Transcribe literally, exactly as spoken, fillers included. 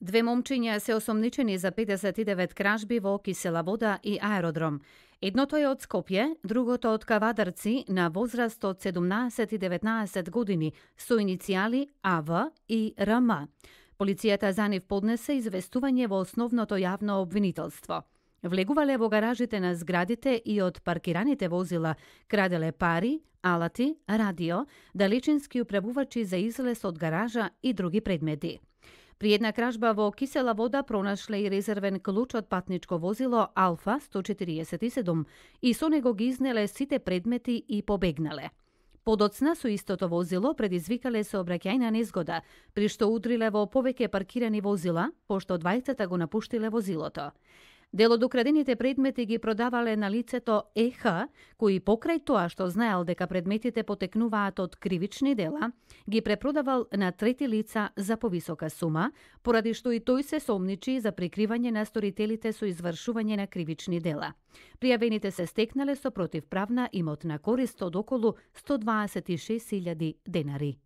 Две момчиња се осомничени за педесет и девет кражби во Кисела Вода и аеродром. Едното е од Скопје, другото од Кавадарци на возраст од седумнаесет и деветнаесет години со иницијали А В и Р М. Полицијата за нив поднесе известување во основното јавно обвинителство. Влегувале во гаражите на зградите и од паркираните возила, краделе пари, алати, радио, далечински управувачи за излез од гаража и други предмети. При една кражба во Кисела Вода пронашле и резервен клуч од патничко возило Алфа сто четириесет и седум и со него ги изнеле сите предмети и побегнале. Подоцна со истото возило предизвикале сообраќајна незгода, при што удриле во повеќе паркирани возила, пошто двајцата го напуштиле возилото. Дел од украдените предмети ги продавале на лицето Е Х, кој покрај тоа што знаел дека предметите потекнуваат од кривични дела, ги препродавал на трети лица за повисока сума, поради што и тој се сомничи за прикривање на сторителите со извршување на кривични дела. Пријавените се стекнале со противправна имотна корист од околу сто дваесет и шест илјади денари.